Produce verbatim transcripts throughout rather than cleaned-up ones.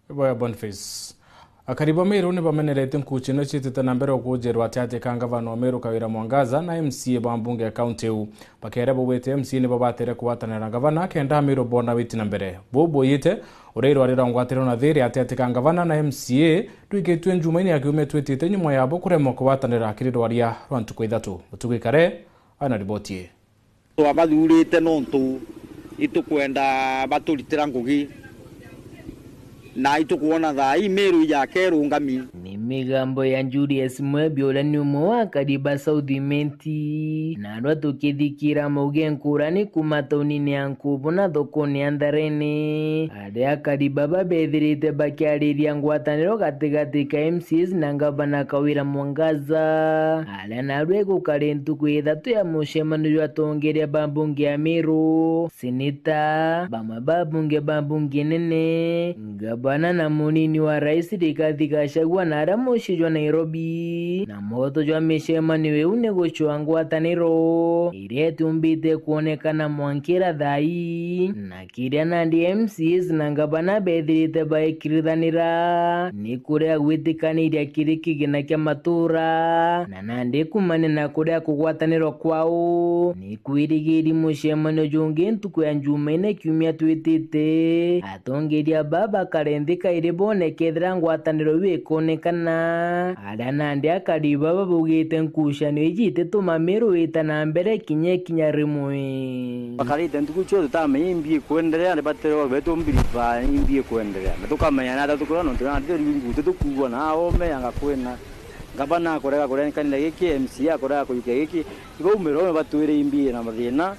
Boya Boniface. Akari ba Meru ni bamenerete nkuuchi ino ciitite na mbere ukuujirwa ati ati ka ngavana wa Meru Kawira Mwangaza na M C A ba mbunge ya kaunti iu. Bakeera baugite M C A nibo batere kugwatanira na ngavana kenda Ameru boona witi na mbere. Buu buuyite uria irwari rwa ngwataniro na thiiri ati ati ka ngavana na M C A rwikitue Njumaine ya kiumia twitite nyuma yabo kuremwa kugwatanira kiri rwaria rwa ntuku ithatu. Mutugi Kare aina riboti ii. Twabathuurite nontu itukwenda baturitira ngugi, na itukwona thaa ii Meru ijaka irungami. Ni migambo ya Julius Mwebi, uria ni umwe wa akari ba South Imenti, narua tukithikira mauge nkurani kuuma taunine ya Nkubu na thokone ya Ntharene, aria akari baba bethirite bakiariria ngwataniro gatigati ka M C As na ngavana Kawira Mwangaza, aria narua igukari ntuku ithatu ya mucemanio jwa atongeria ba mbunge ya Meru, seneta, bamwe ba bunge ba mbunge nene, ngavana na munini wa rais Rigathi Gachagua na aria mucii jwa Nairobi. Na mwoto jwa micemanio iu ni gucua ngwataniro iria itiumbite kwonekana mwankira thaa ii, na kiria nandi M C As na ngavana bethirite baikirithanira ni kuria gwitikaniria kiri kigina kia matuura, na nandi kumania na kuria kugwatanirwa kwao. Ni kwirigiri mucemanio jungi ntuku ya Njumaine kiumia twitite, atongeria baba bakare nthi kairi boone kethira ngwataniro iu ikonekana, aria nandi akari baba baugite nkucanio iji itituma Meru ita na mbere kinya ikinya rimwe. Bakarite ntuku cio tutamenya imbi ikwenderea, ni baterwa betu mbiriba imbi ikwenderea. Na tukamenya na tatu kuria nontu na tatu ringu tutukuwa na aome anga kwina. Ngavana akorega kuria kanitha giki, M C A akorega kujukia giki. Ibaumira ume batwire imbi na mathina.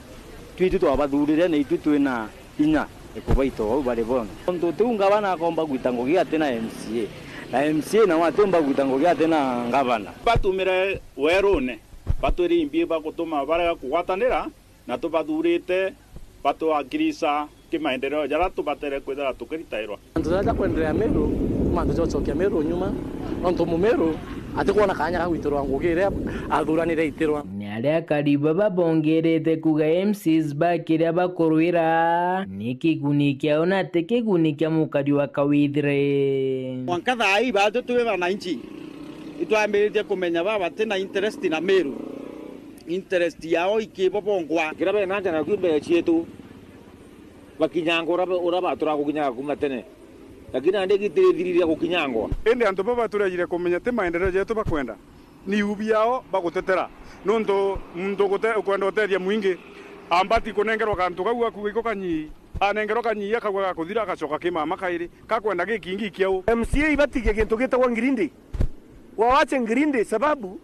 Twitu twabathurire na itwi twina inya ikubaita ou bari bonthe. Untu tiu ngavana akomba gwita ngugi atina M C A, na M C A nao atiumba gwita ngugi atina ngavana. Batumire werune, batwire imbi bagutuma barega kugwatanira, na tubathurite batwakirisa kimaendeleo jaria tubatere kwithira tukiritairwa. Mantu jaria ja kwenderea Meru, mantu ja gucokia Meru nyuma, nontu Mumeru atikwona kaanya ga gwitirwa ngugi iria athuranire aitirwa. Ni aria akari baba bongerete kuuga M Cs ba kiria bakurwira ni kiguni kiao na ti kiguni kia mukari wa Kawithire. Mwanka thaa ii baatu twi bananchi, itwambiritie kumenya baba batina interest na Meru, interest yao ikibo bongwa. Kiria bena nja nakio mbere cietu, bakinyanga uria ba-, uria baturaga kukinyaga kuuma tene. Lakini nandi gitithiriria gukinyangwa. Indi antu baba turejire kumenya ti maendeleo jetu bakwenda, ni iu biao bagutetera. Nontu muntu ugute-, ukwenda utethia mwingi, ambati kunengerwa kantu kau akuuga iko kanyii, anengerwa kanyii akauga gakuthira, agacoka ki mama kairi, kakwenda gikingi kiau. M C A ibatigie gintu gitagwa ngirindi. Wawache ngirindi sababu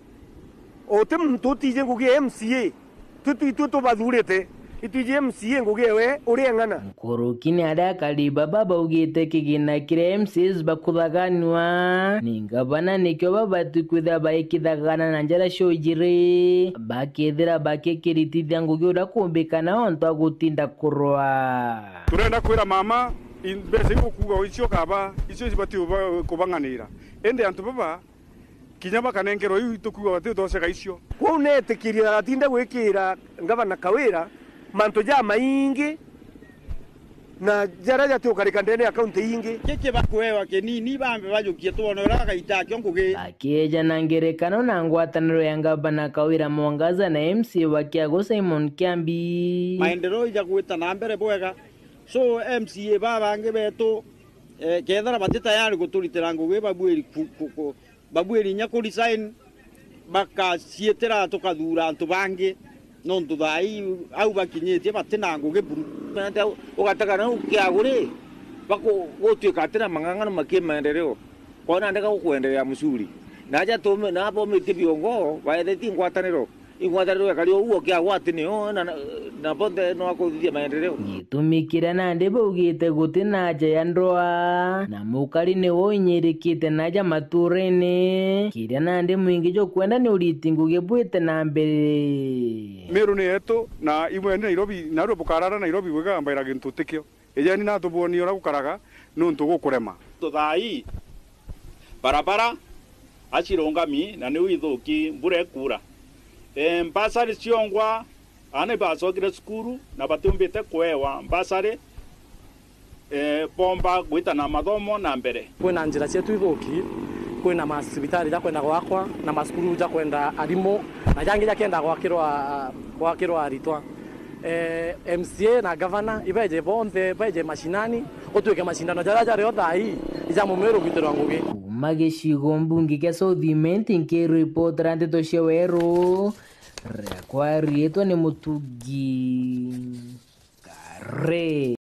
uti muntu utiji ngugi ya M C A. Twi twitwi tubathurite, itwiji M C A ngugi ewe uria eng'ana. Nkuruki ni aria akari baba baugite kigina kiria M Cs bakuthaganua ni ngavana nikio babati kwithira baikithagana na njara ciujiri, bakethira bakikiritithia ngugi uria kumbikana ontu agutinda kurwa. Turenda kwira mama, i-, mbeca iu ukuuga icio kaba, icio cibati uba-, kubang'anira. Indi antu baba, kinya bakanengerwa iu itukuuga bati utoceka icio. Kwou neetikirie agatinde gwikira ngavana Kawira mantu jamaingi na jaria jatiukarika ndene ya kaunti ingi. Giki bakuewa kinini, bambe bajukie twone uria gagaita akio ngugi. Bakieja na ngerekano na ngwataniro ya ngavana Kawira Mwangaza na M C A wa Kiagu Simon Kiambi. Maendeleo ija gwita na mbere bwega. So, M C A babangi betu, eh, kethira bati tayari guturitira ngugi, babuiri ku-, ku-, ku-, babuiri inya ku resign, bakaciitira tukathuura antu bangi, nontu thaa ii au bakinyitie batina ngugi buru. Nandi ugatega nau Kiagu ri, baku-, gutuika atina mang'ang'ano ma kimaendeleo, kona ndeka gukwendelea msuri. Na aja tume-, na bomitie biongo, baethetie ngwataniro. Ing'wataniro ekari o uo Kiagu ati nio, na, na, na bonthe no akuthithia maendeleo. Gitumi kiria nandi baugite guti na aja ya ndwaa, na mukari niwe uinyirikite na aja maturene. Kiria nandi mwingi jukwenda ni uriti ngugi bwite na mbere. Meru ni yetu, na imwe ni Nairobi, narua bukarara Nairobi bwigambaira gintu tikio. Ijeni natubonie uria gukaraga, niuntu gukurema. Thaa ii, barabara acirungami na niu ithuki, mbura ikuura. E, mbasari ciongwa, aana ibacokire cukuru na batiumbite kuewa mbasari. eh, bomba gwita na mathomo na mbere. Kwina njira cietu ithuki, kwina macibitari jakwenda gwakwa, na macukuru jakwenda arimu, na jangi jakienda gwakirwa, gwakirwa aritwa. Eh, M C A na gavana ibeje bonthe, beje mashinani, gutwike mashindano jaria jario thaa ii ija Mumiru gwitirwa ngugi. Kuuma gicigo mbunge kia South Imenti, nkiripotera ndeto cia weru, riakwa riitwa ni Mutugi Kare.